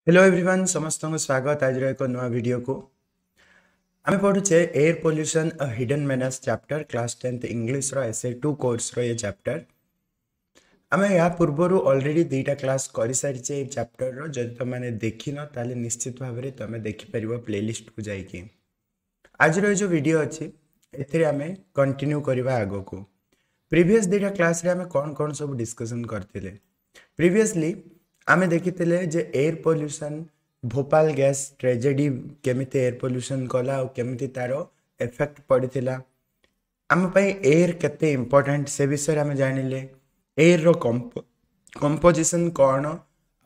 Hello everyone, ସମସ୍ତଙ୍କୁ ସ୍ୱାଗତ ଆଜିର ଏକ ନୂଆ ଭିଡ଼ିଓକୁ। ଆମେ ପଢ଼ୁଛେ Air Pollution, a Hidden Menace chapter, class 10th ଇଂଲିଶର SA two କୋର୍ସର A chapter. ଆମେ ଏହା ପୂର୍ବରୁ ଅଲରେଡ଼ି ଦୁଇଟା କ୍ଲାସ୍ କରିସାରିଛେ ଏଇ ଚାପ୍ଟରର। ଯଦି ତୁମେମାନେ ଦେଖିନ, ତାହେଲେ ନିଶ୍ଚିତ ଭାବରେ ତୁମେ ଦେଖିପାରିବ ପ୍ଲେଲିଷ୍ଟକୁ ଯାଇକି। ଆଜିର ଏ ଯେଉଁ ଭିଡ଼ିଓ ଅଛି, ଏଥିରେ ଆମେ କଣ୍ଟିନ୍ୟୁ କରିବା ଆଗକୁ। ପ୍ରିଭିୟସ୍ ଦୁଇଟା କ୍ଲାସ୍ରେ ଆମେ କ'ଣ କ'ଣ ସବୁ ଡିସ୍କସନ୍ କରିଥିଲେ? ପ୍ରିଭିୟସଲି ଆମେ ଦେଖିଥିଲେ ଯେ air pollution, Bhopal gas tragedy କେମିତି ଏୟାର ପଲ୍ୟୁସନ୍ କଲା ଆଉ କେମିତି ତା'ର ଏଫେକ୍ଟ ପଡ଼ିଥିଲା। ଆମ ପାଇଁ ଏୟାର କେତେ ଇମ୍ପୋର୍ଟାଣ୍ଟ, ସେ ବିଷୟରେ ଆମେ ଜାଣିଲେ। ଏୟାରର କମ୍ପୋଜିସନ୍ କ'ଣ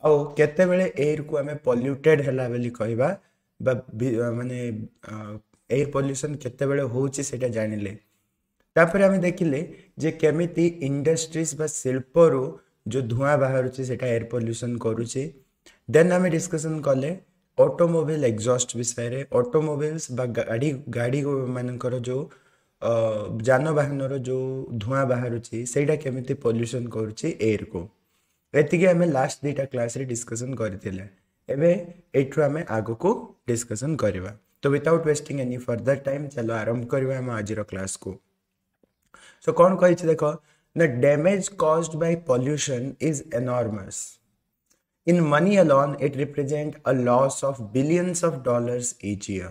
ଆଉ କେତେବେଳେ ଏୟାରକୁ ଆମେ ପଲ୍ୟୁଟେଡ୍ ହେଲା ବୋଲି କହିବା ବା ମାନେ ଏୟାର ପଲ୍ୟୁସନ୍ କେତେବେଳେ ହେଉଛି, ସେଇଟା ଜାଣିଲେ। ତାପରେ ଆମେ ଦେଖିଲେ ଯେ କେମିତି ଇଣ୍ଡଷ୍ଟ୍ରିଜ୍ ବା ଶିଳ୍ପରୁ ଯେଉଁ ଧୂଆଁ ବାହାରୁଛି, ସେଇଟା ଏୟାର ପଲ୍ୟୁସନ୍ କରୁଛି। ଦେନ୍ ଆମେ ଡିସ୍କସନ୍ କଲେ ଅଟୋମୋବାଇଲ୍ ଏକ୍ଜଷ୍ଟ ବିଷୟରେ। ଅଟୋମୋବାଇଲ୍ସ ବା ଗାଡ଼ି ମାନଙ୍କର ଯେଉଁ, ଯାନବାହନର ଯେଉଁ ଧୂଆଁ ବାହାରୁଛି, ସେଇଟା କେମିତି ପଲ୍ୟୁସନ୍ କରୁଛି ଏୟାରକୁ। ଏତିକି ଆମେ ଲାଷ୍ଟ ଦୁଇଟା କ୍ଲାସ୍ରେ ଡିସ୍କସନ୍ କରିଥିଲେ। ଏବେ ଏଇଠୁ ଆମେ ଆଗକୁ ଡିସ୍କସନ୍ କରିବା। ତ without wasting any further time, ଚାଲ ଆରମ୍ଭ କରିବା ଆମ ଆଜିର କ୍ଲାସ୍କୁ। ସୋ କ'ଣ କହିଛି ଦେଖ। The damage caused by pollution is enormous. In money alone, it represents a loss of billions of dollars each year.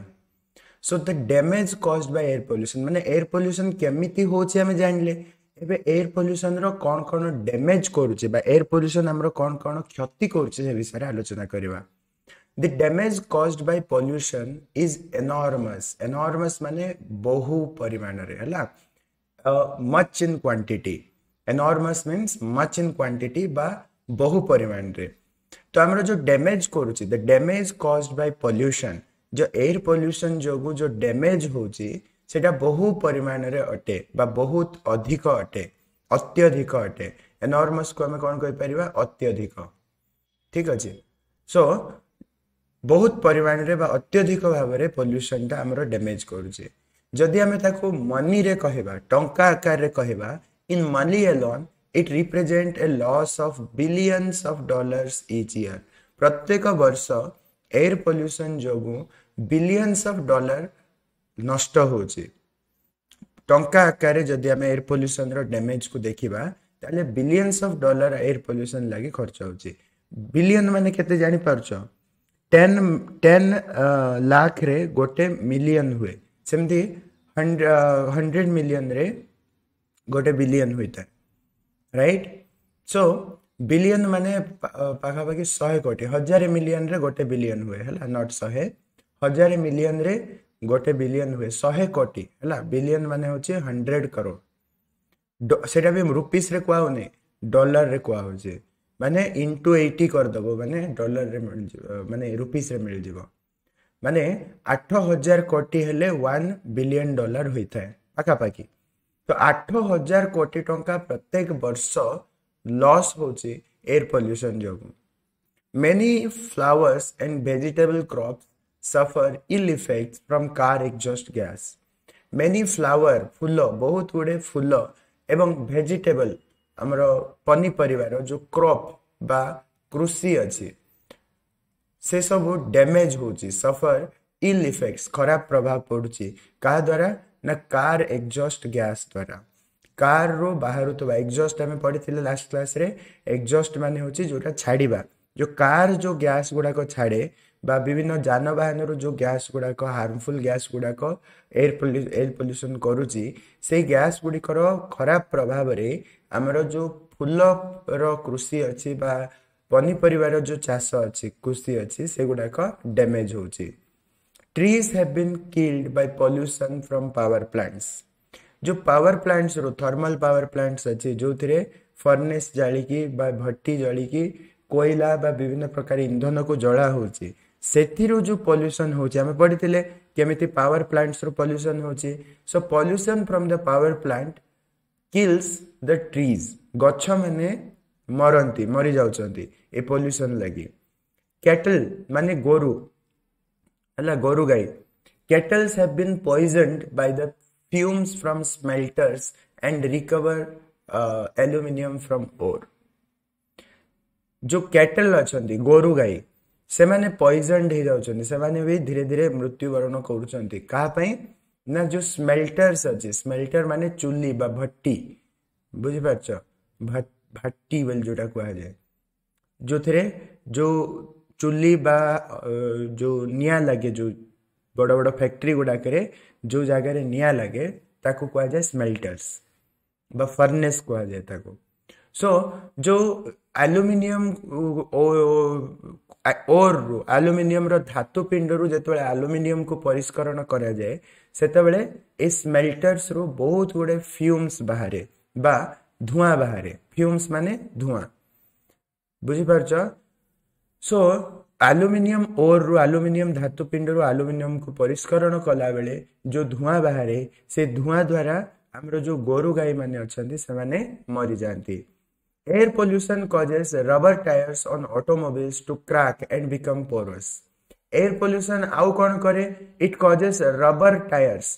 So the damage caused by air pollution, ମାନେ air pollution କେମିତି ହେଉଛି ଆମେ ଜାଣିଲେ। ଏବେ ଏୟାର ପଲ୍ୟୁସନର କ'ଣ କ'ଣ ଡ୍ୟାମେଜ୍ କରୁଛି ବା ଏୟାର ପଲ୍ୟୁସନ ଆମର କ'ଣ କ'ଣ କ୍ଷତି କରୁଛି, ସେ ବିଷୟରେ ଆଲୋଚନା କରିବା। The damage caused by pollution is enormous. Enormous ମାନେ ବହୁ ପରିମାଣରେ, ହେଲା, much in quantity. Enormous means much in quantity ବା ବହୁ ପରିମାଣରେ। ତ ଆମର ଯେଉଁ ଡ୍ୟାମେଜ୍ କରୁଛି, the damage caused by pollution, ଯେଉଁ ଏୟାର ପଲ୍ୟୁସନ୍ ଯୋଗୁଁ ଯେଉଁ ଡ୍ୟାମେଜ୍ ହେଉଛି, ସେଇଟା ବହୁ ପରିମାଣରେ ଅଟେ ବା ବହୁତ ଅଧିକ ଅଟେ, ଅତ୍ୟଧିକ ଅଟେ। ଏନର୍ମସକୁ ଆମେ କ'ଣ କହିପାରିବା? ଅତ୍ୟଧିକ। ଠିକ୍ ଅଛି। ସୋ ବହୁତ ପରିମାଣରେ ବା ଅତ୍ୟଧିକ ଭାବରେ ପଲ୍ୟୁସନଟା ଆମର ଡ୍ୟାମେଜ୍ କରୁଛି। ଯଦି ଆମେ ତାକୁ ମନିରେ କହିବା, ଟଙ୍କା ଆକାରରେ କହିବା, in money alone, it represent a loss of billions of dollars each year. ପ୍ରତ୍ୟେକ ବର୍ଷ ଏୟାର ପଲ୍ୟୁସନ୍ ଯୋଗୁଁ ବିଲିୟନ୍ସ ଅଫ୍ ଡଲାର ନଷ୍ଟ ହେଉଛି। ଟଙ୍କା ଆକାରରେ ଯଦି ଆମେ ଏୟାର ପଲ୍ୟୁସନର ଡ୍ୟାମେଜକୁ ଦେଖିବା, ତାହେଲେ billions of dollar air pollution ଲାଗି ଖର୍ଚ୍ଚ ହେଉଛି। ବିଲିୟନ ମାନେ କେତେ ଜାଣିପାରୁଛ? 10 10 ଲାଖରେ ଗୋଟେ ମିଲିୟନ ହୁଏ। ସେମିତି 100 ମିଲିୟନରେ ଗୋଟେ ବିଲିୟନ ହୋଇଥାଏ, ରାଇଟ୍? ସୋ ବିଲିୟନ ମାନେ ପାଖାପାଖି 100 କୋଟି। 1000 ମିଲିୟନରେ ଗୋଟେ ବିଲିୟନ ହୁଏ, ହେଲା? Not 100, 1000 ମିଲିୟନରେ ଗୋଟେ ବିଲିୟନ ହୁଏ, 100 କୋଟି, ହେଲା? ବିଲିୟନ ମାନେ ହେଉଛି 100 କରୋଡ଼। ସେଇଟା ବି ରୁପିସରେ କୁହାହଉନି, ଡଲାରରେ କୁହାହଉଛି। ମାନେ ଇଣ୍ଟୁ 80 କରିଦେବ, ମାନେ ଡଲାରରେ ମିଳିଯିବ, ମାନେ ରୁପିସରେ ମିଳିଯିବ। ମାନେ 8000 କୋଟି ହେଲେ 1 ବିଲିୟନ ଡଲାର ହୋଇଥାଏ ପାଖାପାଖି। ତ 8000 କୋଟି ଟଙ୍କା ପ୍ରତ୍ୟେକ ବର୍ଷ ଲସ୍ ହେଉଛି ଏୟାର ପଲ୍ୟୁସନ୍ ଯୋଗୁଁ। Many flowers and vegetable crops suffer ill effects from car exhaust gas. Many flower, ଫୁଲ, ବହୁତ ଗୁଡ଼ିଏ ଫୁଲ ଏବଂ ଭେଜିଟେବଲ, ଆମର ପନିପରିବାର ଯେଉଁ କ୍ରପ୍ ବା କୃଷି ଅଛି, ସେ ସବୁ ଡ୍ୟାମେଜ୍ ହେଉଛି। ସଫର ଇଲ୍ ଇଫେକ୍ଟସ୍, ଖରାପ ପ୍ରଭାବ ପଡ଼ୁଛି। କାହା ଦ୍ୱାରା ନା କାର୍ ଏକ୍ଜଷ୍ଟ ଗ୍ୟାସ୍ ଦ୍ୱାରା। କାର୍ରୁ ବାହାରୁଥିବା ଏକ୍ଜଷ୍ଟ, ଆମେ ପଢ଼ିଥିଲେ ଲାଷ୍ଟ କ୍ଲାସ୍ରେ, ଏକ୍ଜଷ୍ଟ ମାନେ ହେଉଛି ଯେଉଁଟା ଛାଡ଼ିବା। ଯେଉଁ କାର୍ ଯେଉଁ ଗ୍ୟାସ୍ ଗୁଡ଼ାକ ଛାଡ଼େ ବା ବିଭିନ୍ନ ଯାନବାହନରୁ ଯେଉଁ ଗ୍ୟାସ୍ ଗୁଡ଼ାକ, ହାର୍ମଫୁଲ୍ ଗ୍ୟାସ୍ ଗୁଡ଼ାକ ଏୟାର ପଲ୍ୟୁସନ୍ କରୁଛି, ସେଇ ଗ୍ୟାସ୍ ଗୁଡ଼ିକର ଖରାପ ପ୍ରଭାବରେ ଆମର ଯେଉଁ ଫୁଲର କୃଷି ଅଛି ବା ପନିପରିବାର ଯେଉଁ ଚାଷ ଅଛି, କୃଷି ଅଛି, ସେଗୁଡ଼ାକ ଡ୍ୟାମେଜ୍ ହେଉଛି। Trees have been killed by pollution from power plants. ଯେଉଁ ପାୱାର ପ୍ଲାଣ୍ଟସରୁ, ଥର୍ମାଲ ପାୱାର ପ୍ଲାଣ୍ଟସ୍ ଅଛି, ଯେଉଁଥିରେ ଫର୍ନେସ୍ ଜାଳିକି ବା ଭଟ୍ଟି ଜଳିକି କୋଇଲା ବା ବିଭିନ୍ନ ପ୍ରକାର ଇନ୍ଧନକୁ ଜଳା ହେଉଛି, ସେଥିରୁ ଯେଉଁ ପଲ୍ୟୁସନ୍ ହେଉଛି। ଆମେ ପଢ଼ିଥିଲେ କେମିତି ପାୱାର ପ୍ଲାଣ୍ଟସରୁ ପଲ୍ୟୁସନ୍ ହେଉଛି। So pollution from the power plant kills the trees. ଗଛମାନେ ମରନ୍ତି, ମରିଯାଉଛନ୍ତି ଏ ପଲ୍ୟୁସନ୍ ଲାଗି। କ୍ୟାଟଲ୍ ମାନେ ଗୋରୁ, ହେଲା, ଗୋରୁ ଗାଈ। Cattles have been poisoned by the fumes from smelters and recover aluminium from ore. ଯୋଉ କ୍ୟାଟଲ୍ ଅଛନ୍ତି, ଗୋରୁ ଗାଈ, ସେମାନେ ପଏଜନ୍ଡ ହେଇଯାଉଛନ୍ତି, ସେମାନେ ବି ଧୀରେ ଧୀରେ ମୃତ୍ୟୁବରଣ କରୁଛନ୍ତି। କାହା ପାଇଁ ନା ଯେଉଁ ସ୍ମେଲ୍ଟର୍ସ ଅଛି, ସ୍ମେଲ୍ଟର ମାନେ ଚୁଲି ବା ଭଟ୍ଟି, ବୁଝିପାରୁଛ, ଭାଟି ବୋଲି ଯେଉଁଟା କୁହାଯାଏ, ଯେଉଁଥିରେ ଯେଉଁ ଚୁଲି ବା ଯେଉଁ ନିଆଁ ଲାଗେ, ଯେଉଁ ବଡ଼ ବଡ଼ ଫ୍ୟାକ୍ଟ୍ରି ଗୁଡ଼ାକରେ ଯେଉଁ ଜାଗାରେ ନିଆଁ ଲାଗେ ତାକୁ କୁହାଯାଏ ସ୍ମେଲ୍ଟର୍ସ ବା ଫର୍ନେସ୍ କୁହାଯାଏ ତାକୁ। ସୋ ଯେଉଁ ଆଲୁମିନିୟମ ଓର୍ରୁ, ଆଲୁମିନିୟମର ଧାତୁ ପିଣ୍ଡରୁ ଯେତେବେଳେ ଆଲୁମିନିୟମକୁ ପରିଷ୍କରଣ କରାଯାଏ, ସେତେବେଳେ ଏ ସ୍ମେଲ୍ଟର୍ସରୁ ବହୁତ ଗୁଡ଼ିଏ ଫ୍ୟୁମ୍ସ ବାହାରେ ବା ଧୂଆଁ ବାହାରେ। ଫ୍ୟୁମ୍ସ ମାନେ ଧୂଆଁ, ବୁଝିପାରୁଛ? ସୋ ଆଲୁମିନିୟମ ଓର୍ରୁ, ଆଲୁମିନିୟମ ଧାତୁ ପିଣ୍ଡରୁ ଆଲୁମିନିୟମକୁ ପରିଷ୍କରଣ କଲାବେଳେ ଯେଉଁ ଧୂଆଁ ବାହାରେ, ସେ ଧୂଆଁ ଦ୍ୱାରା ଆମର ଯେଉଁ ଗୋରୁ ଗାଈମାନେ ଅଛନ୍ତି ସେମାନେ ମରିଯାଆନ୍ତି। Air pollution causes rubber tires on automobiles to crack and become porous. Air pollution ଆଉ କ'ଣ କରେ? It causes rubber tires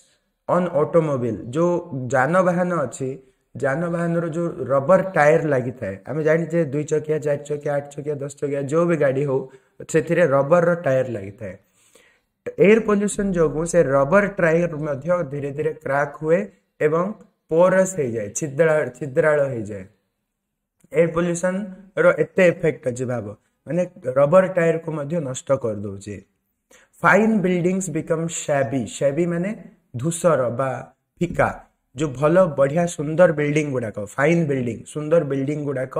on automobile. ଯେଉଁ ଯାନବାହନ ଅଛି, ଯାନବାହନର ଯେଉଁ ରବର ଟାୟାର ଲାଗିଥାଏ, ଆମେ ଜାଣିଛେ 2 ଚକିଆ, 4 ଚକିଆ, 8 ଚକିଆ, 10 ଚକିଆ ଯେଉଁ ବି ଗାଡ଼ି ହଉ, ସେଥିରେ ରବରର ଟାୟାର ଲାଗିଥାଏ। ଏୟାର ପଲ୍ୟୁସନ୍ ଯୋଗୁଁ ସେ ରବର ଟାୟାର ମଧ୍ୟ ଧୀରେ ଧୀରେ କ୍ରାକ୍ ହୁଏ ଏବଂ ପୋରସ୍ ହେଇଯାଏ, ଛିଦ୍ରାଳ ହେଇଯାଏ। ଏୟାର ପଲ୍ୟୁସନ୍ର ଏତେ ଏଫେକ୍ଟ ଅଛି ଭାବ, ମାନେ ରବର ଟାୟାରକୁ ମଧ୍ୟ ନଷ୍ଟ କରିଦେଉଛି। Fine ବିଲ୍ଡିଂସ୍ BCom ଶ୍ୟାବି। ଶ୍ୟାବି ମାନେ ଧୂସର ବା ଫିକା। ଯେଉଁ ଭଲ ବଢ଼ିଆ ସୁନ୍ଦର ବିଲ୍ଡିଂ ଗୁଡ଼ାକ, ଫାଇନ୍ ବିଲ୍ଡିଂ, ସୁନ୍ଦର ବିଲ୍ଡିଂ ଗୁଡ଼ାକ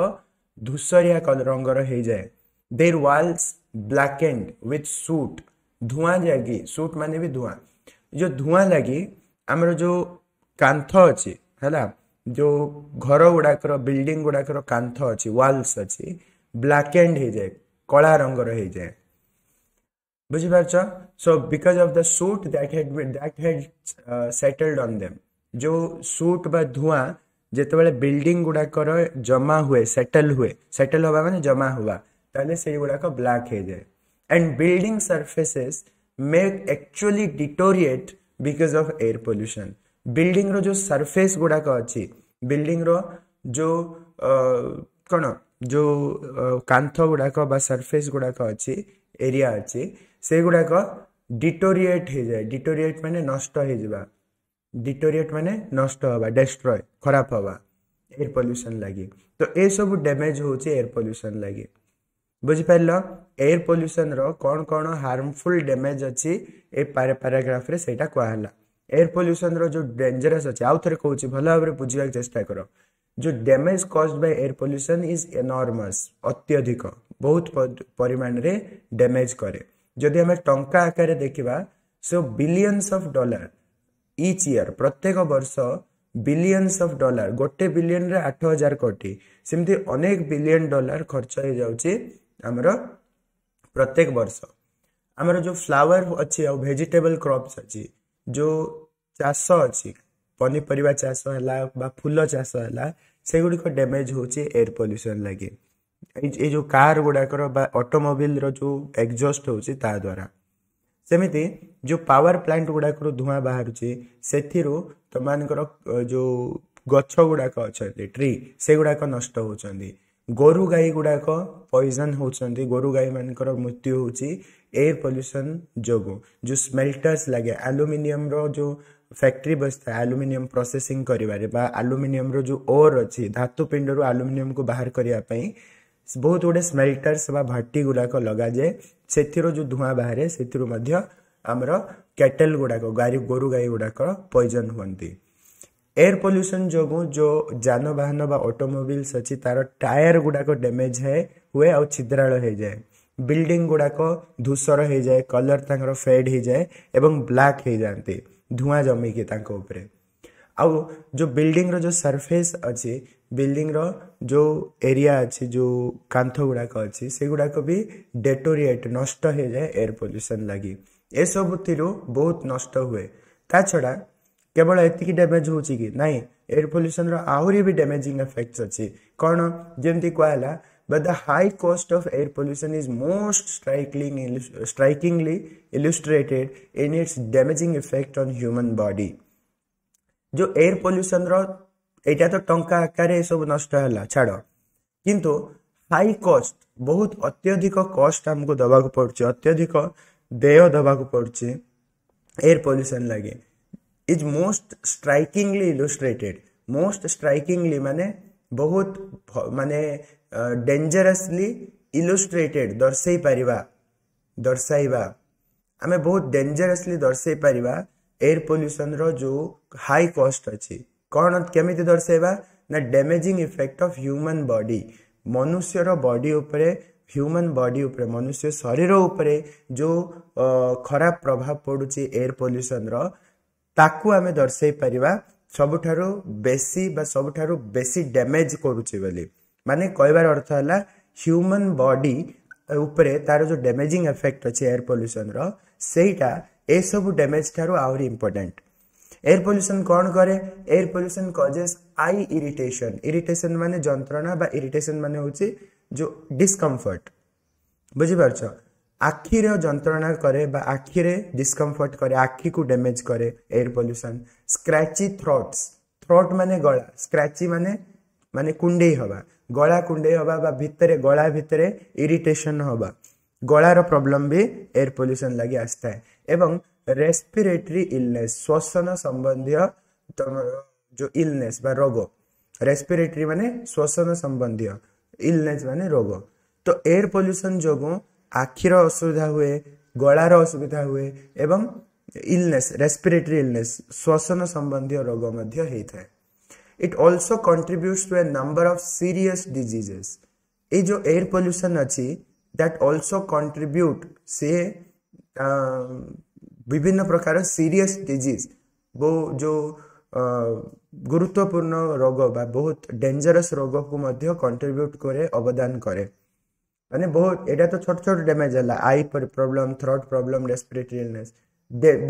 ଧୂସରିଆ ରଙ୍ଗର ହେଇଯାଏ। Their walls blackened with soot. ଧୂଆଁ ଲାଗି, ସୁଟ୍ ମାନେ ବି ଧୂଆଁ, ଯେଉଁ ଧୂଆଁ ଲାଗି ଆମର ଯେଉଁ କାନ୍ଥ ଅଛି, ହେଲା, ଯେଉଁ ଘର ଗୁଡ଼ାକର ବିଲ୍ଡିଂ ଗୁଡ଼ାକର କାନ୍ଥ ଅଛି, ୱାଲ୍ସ ଅଛି, ବ୍ଲାକେଣ୍ଡ ହେଇଯାଏ, କଳା ରଙ୍ଗର ହେଇଯାଏ, ବୁଝିପାରୁଛ? So because of the soot that had settled on them. ଯେଉଁ ସୁଟ୍ ବା ଧୂଆଁ ଯେତେବେଳେ ବିଲ୍ଡିଂ ଗୁଡ଼ାକର ଜମା ହୁଏ, ସେଟଲ୍ ହୁଏ, ସେଟଲ୍ ହେବା ମାନେ ଜମା ହେବା, ତାହେଲେ ସେଇଗୁଡ଼ାକ ବ୍ଲାକ୍ ହେଇଯାଏ। And building surfaces may actually deteriorate because of air pollution. ବିଲ୍ଡିଂର ଯେଉଁ ସରଫେସ୍ ଗୁଡ଼ାକ ଅଛି, ବିଲ୍ଡିଂର ଯେଉଁ କ'ଣ ଯେଉଁ କାନ୍ଥ ଗୁଡ଼ାକ ବା ସରଫେସ୍ ଗୁଡ଼ାକ ଅଛି, ଏରିଆ ଅଛି, ସେଗୁଡ଼ାକ ଡିଟୋରିଏଟ୍ ହେଇଯାଏ। ଡିଟୋରିଏଟ୍ ମାନେ ନଷ୍ଟ ହେଇଯିବା, ଡିଟୋରିଏଟ୍ ମାନେ ନଷ୍ଟ ହେବା, ଡେଷ୍ଟ୍ରୟ, ଖରାପ ହେବା ଏୟାର ପଲ୍ୟୁସନ୍ ଲାଗି। ତ ଏସବୁ ଡ୍ୟାମେଜ୍ ହେଉଛି ଏୟାର ପଲ୍ୟୁସନ୍ ଲାଗି, ବୁଝିପାରିଲ? ଏୟାର ପଲ୍ୟୁସନ୍ର କ'ଣ କ'ଣ ହାର୍ମଫୁଲ୍ ଡ୍ୟାମେଜ୍ ଅଛି ଏ ପାରାଗ୍ରାଫରେ ସେଇଟା କୁହାହେଲା। ଏୟାର ପଲ୍ୟୁସନ୍ର ଯେଉଁ ଡେଞ୍ଜରସ୍ ଅଛି, ଆଉ ଥରେ କହୁଛି ଭଲ ଭାବରେ ବୁଝିବାକୁ ଚେଷ୍ଟା କର। ଯେଉଁ damage caused by air pollution is enormous, ଅତ୍ୟଧିକ, ବହୁତ ପରିମାଣରେ ଡ୍ୟାମେଜ୍ କରେ। ଯଦି ଆମେ ଟଙ୍କା ଆକାରରେ ଦେଖିବା, so billions of dollar each year, ପ୍ରତ୍ୟେକ ବର୍ଷ ବିଲିୟନ୍ସ ଅଫ୍ ଡଲାର, ଗୋଟେ ବିଲିୟନରେ 8,000 କୋଟି, ସେମିତି ଅନେକ ବିଲିୟନ ଡଲାର ଖର୍ଚ୍ଚ ହେଇଯାଉଛି ଆମର ପ୍ରତ୍ୟେକ ବର୍ଷ। ଆମର ଯେଉଁ ଫ୍ଲାୱାର ଅଛି ଆଉ ଭେଜିଟେବଲ କ୍ରପ୍ସ ଅଛି, ଯେଉଁ ଚାଷ ଅଛି, ପନିପରିବା ଚାଷ ହେଲା ବା ଫୁଲ ଚାଷ ହେଲା, ସେଗୁଡ଼ିକ ଡ୍ୟାମେଜ୍ ହେଉଛି ଏୟାର ପଲ୍ୟୁସନ୍ ଲାଗି। ଏଇ ଯେଉଁ କାର୍ ଗୁଡ଼ାକର ବା ଅଟୋମୋବିଲର ଯେଉଁ ଏକ୍ଜଷ୍ଟ ହେଉଛି ତା ଦ୍ୱାରା। ସେମିତି ଯେଉଁ ପାୱାର ପ୍ଲାଣ୍ଟ ଗୁଡ଼ାକରୁ ଧୂଆଁ ବାହାରୁଛି, ସେଥିରୁ ତମମାନଙ୍କର ଯେଉଁ ଗଛ ଗୁଡ଼ାକ ଅଛନ୍ତି, ଟ୍ରି, ସେଗୁଡ଼ାକ ନଷ୍ଟ ହେଉଛନ୍ତି। ଗୋରୁ ଗାଈ ଗୁଡ଼ାକ ପଏଜନ୍ ହେଉଛନ୍ତି, ଗୋରୁ ଗାଈମାନଙ୍କର ମୃତ୍ୟୁ ହେଉଛି ଏୟାର ପଲ୍ୟୁସନ୍ ଯୋଗୁଁ। ଯେଉଁ ସ୍ମେଲ୍ଟର୍ସ ଲାଗେ, ଆଲୁମିନିୟମର ଯେଉଁ ଫ୍ୟାକ୍ଟ୍ରି ବସିଥାଏ ଆଲୁମିନିୟମ ପ୍ରୋସେସିଂ କରିବାରେ ବା ଆଲୁମିନିୟମର ଯେଉଁ ଓର୍ ଅଛି, ଧାତୁ ପିଣ୍ଡରୁ ଆଲୁମିନିୟମକୁ ବାହାର କରିବା ପାଇଁ ବହୁତ ଗୁଡ଼ିଏ ସ୍ମେଲ୍ଟର୍ସ ବା ଭାଟି ଗୁଡ଼ାକ ଲଗାଯାଏ। ସେଥିରୁ ଯେଉଁ ଧୂଆଁ ବାହାରେ ସେଥିରୁ ମଧ୍ୟ ଆମର କ୍ୟାଟେଲ୍ ଗୁଡ଼ାକ, ଗାଈ ଗୋରୁ ଗାଈ ଗୁଡ଼ାକ ପଏଜନ୍ ହୁଅନ୍ତି। ଏୟାର ପଲ୍ୟୁସନ୍ ଯୋଗୁଁ ଯେଉଁ ଯାନବାହନ ବା ଅଟୋମୋବିଲ୍ସ ଅଛି ତାର ଟାୟାର ଗୁଡ଼ାକ ଡ୍ୟାମେଜ୍ ହୁଏ ଆଉ ଛିଦ୍ରାଳ ହେଇଯାଏ। ବିଲ୍ଡିଂ ଗୁଡ଼ାକ ଧୂସର ହେଇଯାଏ, କଲର୍ ତାଙ୍କର ଫେଡ୍ ହେଇଯାଏ ଏବଂ ବ୍ଲାକ୍ ହେଇଯାଆନ୍ତି ଧୂଆଁ ଜମିକି ତାଙ୍କ ଉପରେ। ଆଉ ଯେଉଁ ବିଲ୍ଡିଂର ଯେଉଁ ସରଫେସ୍ ଅଛି, ବିଲ୍ଡିଂର ଯେଉଁ ଏରିଆ ଅଛି, ଯେଉଁ କାନ୍ଥ ଗୁଡ଼ାକ ଅଛି, ସେଗୁଡ଼ାକ ବି ଡେଟୋରିଏଟ୍, ନଷ୍ଟ ହେଇଯାଏ ଏୟାର ପଲ୍ୟୁସନ୍ ଲାଗି। ଏସବୁଥିରୁ ବହୁତ ନଷ୍ଟ ହୁଏ। ତା ଛଡ଼ା କେବଳ ଏତିକି ଡ୍ୟାମେଜ୍ ହେଉଛି କି ନାଇଁ, ଏୟାର ପଲ୍ୟୁସନ୍ର ଆହୁରି ବି ଡ୍ୟାମେଜିଂ ଏଫେକ୍ଟସ୍ ଅଛି। କ'ଣ? ଯେମିତି କୁହାହେଲା, but the high cost of air pollution is most strikingly illustrated in its damaging effect on human body. ଯେଉଁ ଏୟାର ପଲ୍ୟୁସନ୍ର ଏଇଟା ତ ଟଙ୍କା ଆକାରରେ ଏସବୁ ନଷ୍ଟ ହେଲା ଛାଡ଼, କିନ୍ତୁ ହାଇ କଷ୍ଟ, ବହୁତ ଅତ୍ୟଧିକ କଷ୍ଟ ଆମକୁ ଦେବାକୁ ପଡ଼ୁଛି, ଅତ୍ୟଧିକ ଦେୟ ଦେବାକୁ ପଡ଼ୁଛି ଏୟାର ପଲ୍ୟୁସନ୍ ଲାଗି, is most strikingly illustrated. Most strikingly ମାନେ ବହୁତ ମାନେ ଡେଞ୍ଜରସଲି ଇଲୁଷ୍ଟ୍ରେଟେଡ୍, ଦର୍ଶାଇ ପାରିବା, ଦର୍ଶାଇବା, ଆମେ ବହୁତ ଡେଞ୍ଜରସଲି ଦର୍ଶାଇ ପାରିବା ଏୟାର ପଲ୍ୟୁସନ୍ର ଯେଉଁ ହାଇ କଷ୍ଟ ଅଛି। କ'ଣ କେମିତି ଦର୍ଶାଇବା ନା damaging effect of human body, ମନୁଷ୍ୟର ବଡି ଉପରେ, ହ୍ୟୁମାନ୍ ବଡି ଉପରେ, ମନୁଷ୍ୟ ଶରୀର ଉପରେ ଯେଉଁ ଖରାପ ପ୍ରଭାବ ପଡ଼ୁଛି ଏୟାର ପଲ୍ୟୁସନ୍ର, ତାକୁ ଆମେ ଦର୍ଶାଇ ପାରିବା ସବୁଠାରୁ ବେଶୀ ବା ସବୁଠାରୁ ବେଶୀ ଡ୍ୟାମେଜ୍ କରୁଛି ବୋଲି। ମାନେ କହିବାର ଅର୍ଥ ହେଲା ହ୍ୟୁମାନ୍ ବଡି ଉପରେ ତାର ଯେଉଁ ଡ୍ୟାମେଜିଂ ଏଫେକ୍ଟ ଅଛି ଏୟାର ପଲ୍ୟୁସନ୍ର, ସେଇଟା ଏସବୁ ଡ୍ୟାମେଜ୍ ଠାରୁ ଆହୁରି ଇମ୍ପୋର୍ଟାଣ୍ଟ। ଏୟାର ପଲ୍ୟୁସନ୍ କ'ଣ କରେ? Air pollution causes eye irritation. Irritation ମାନେ ଯନ୍ତ୍ରଣା ବା ଇରିଟେସନ୍ ମାନେ ହେଉଛି ଯେଉଁ ଡିସ୍କମ୍ଫର୍ଟ, ବୁଝିପାରୁଛ? ଆଖିର ଯନ୍ତ୍ରଣା କରେ ବା ଆଖିରେ ଡିସ୍କମ୍ଫର୍ଟ କରେ, ଆଖିକୁ ଡ୍ୟାମେଜ୍ କରେ air pollution. Scratchy throats, throat ମାନେ ଗଳା, ସ୍କ୍ରାଚି ମାନେ ମାନେ କୁଣ୍ଡେଇ ହେବା, ଗଳା କୁଣ୍ଡେଇ ହେବା ବା ଭିତରେ ଗଳା ଭିତରେ ଇରିଟେସନ୍ ହେବା, ଗଳାର ପ୍ରୋବ୍ଲେମ୍ ବି ଏୟାର ପଲ୍ୟୁସନ୍ ଲାଗି ଆସିଥାଏ। ଏବଂ ରେସ୍ପିରେଟରୀ ଇଲନେସ୍, ଶ୍ଵସନ ସମ୍ବନ୍ଧୀୟ ତମର ଯେଉଁ ଇଲନେସ୍ ବା ରୋଗ, ରେସ୍ପିରେଟରୀ ମାନେ ଶ୍ଵସନ ସମ୍ବନ୍ଧୀୟ, ଇଲନେସ୍ ମାନେ ରୋଗ। ତ ଏୟାର ପଲ୍ୟୁସନ୍ ଯୋଗୁଁ ଆଖିର ଅସୁବିଧା ହୁଏ, ଗଳାର ଅସୁବିଧା ହୁଏ ଏବଂ ଇଲନେସ୍, ରେସ୍ପିରେଟରୀ ଇଲନେସ୍, ଶ୍ଵସନ ସମ୍ବନ୍ଧୀୟ ରୋଗ ମଧ୍ୟ ହେଇଥାଏ। It also contributes to a number of serious diseases. ଏଇ ଯେଉଁ ଏୟାର ପଲ୍ୟୁସନ୍ ଅଛି, that also contribute, ସେ ବିଭିନ୍ନ ପ୍ରକାର ସିରିୟସ୍ ଡିଜିଜ୍, ଯେଉଁ ଗୁରୁତ୍ୱପୂର୍ଣ୍ଣ ରୋଗ ବା ବହୁତ ଡେଞ୍ଜରସ୍ ରୋଗକୁ ମଧ୍ୟ କଣ୍ଟ୍ରିବ୍ୟୁଟ୍ କରେ, ଅବଦାନ କରେ। ମାନେ ବହୁତ ଏଇଟା ତ ଛୋଟ ଛୋଟ ଡ୍ୟାମେଜ୍ ହେଲା, eye problem, throat problem, respiratory illness,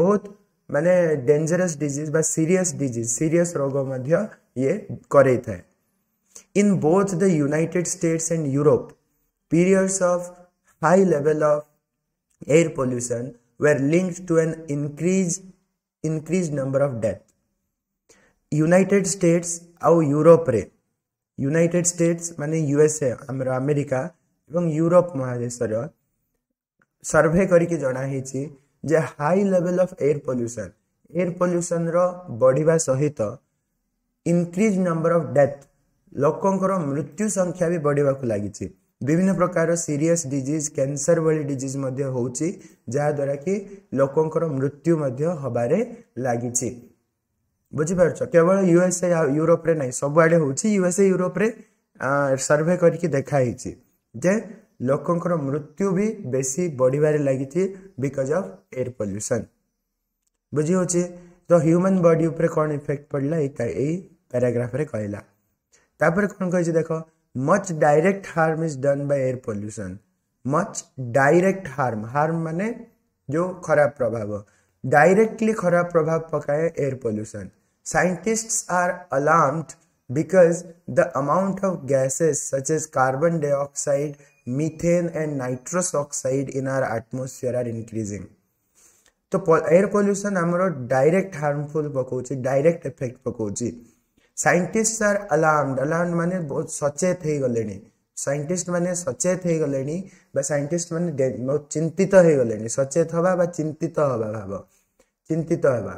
ବହୁତ ମାନେ ଡେଞ୍ଜରସ୍ ଡିଜିଜ୍ ବା ସିରିୟସ୍ ଡିଜିଜ୍, ସିରିୟସ୍ ରୋଗ ମଧ୍ୟ ଇଏ କରେଇଥାଏ। In both the United States and Europe, periods of high level of air pollution were linked to an increased number of death. United States ଆଉ ୟୁରୋପରେ, United states ମାନେ USA, ଆମର America, ଏବଂ Europe ମହାଦେଶର survey କରିକି ଜଣା ହେଇଛି ଯେ high level of air pollution, air ପଲ୍ୟୁସନ୍ର ବଢ଼ିବା ସହିତ ଇନକ୍ରିଜ୍ ନମ୍ବର ଅଫ୍ ଡେଥ୍, ଲୋକଙ୍କର ମୃତ୍ୟୁ ସଂଖ୍ୟା ବି ବଢ଼ିବାକୁ ଲାଗିଛି। ବିଭିନ୍ନ ପ୍ରକାର ସିରିୟସ୍ ଡିଜିଜ୍, କ୍ୟାନ୍ସର ଭଳି ଡିଜିଜ୍ ମଧ୍ୟ ହେଉଛି, ଯାହାଦ୍ୱାରା କି ଲୋକଙ୍କର ମୃତ୍ୟୁ ମଧ୍ୟ ହେବାରେ ଲାଗିଛି। ବୁଝିପାରୁଛ? କେବଳ ୟୁଏସଏ ଆଉ ୟୁରୋପରେ ନାହିଁ, ସବୁଆଡ଼େ ହେଉଛି। ୟୁଏସଏ ୟୁରୋପରେ ସର୍ଭେ କରିକି ଦେଖା ହେଇଛି ଯେ ଲୋକଙ୍କର ମୃତ୍ୟୁ ବି ବେଶୀ ବଢ଼ିବାରେ ଲାଗିଛି because of air pollution. ବୁଝି ହେଉଛି? ତ ହ୍ୟୁମାନ୍ ବଡି ଉପରେ କ'ଣ ଇଫେକ୍ଟ ପଡ଼ିଲା ଏଇ ପ୍ୟାରାଗ୍ରାଫରେ କହିଲା। ତାପରେ କ'ଣ କହିଛି ଦେଖ। Much direct harm is done by air pollution. Much direct harm, harm ମାନେ ଯେଉଁ ଖରାପ ପ୍ରଭାବ, ଡାଇରେକ୍ଟଲି ଖରାପ ପ୍ରଭାବ ପକାଏ air pollution. Scientists are alarmed because the amount of gases such as carbon dioxide, methane and nitrous oxide in our atmosphere are increasing. ତ air pollution ଆମର direct harmful ପକାଉଛି, ଡାଇରେକ୍ଟ ଏଫେକ୍ଟ ପକାଉଛି। ସାଇଣ୍ଟିଷ୍ଟ ଆର୍ ଆଲାର୍ମଡ, ଆଲାର୍ମଡ ମାନେ ବହୁତ ସଚେତ ହେଇଗଲେଣି, ସାଇଣ୍ଟିଷ୍ଟ ମାନେ ସଚେତ ହେଇଗଲେଣି ବା ସାଇଣ୍ଟିଷ୍ଟ ମାନେ ବହୁତ ଚିନ୍ତିତ ହେଇଗଲେଣି। ସଚେତ ହବା ବା ଚିନ୍ତିତ ହବା ଭାବ, ଚିନ୍ତିତ ହେବା,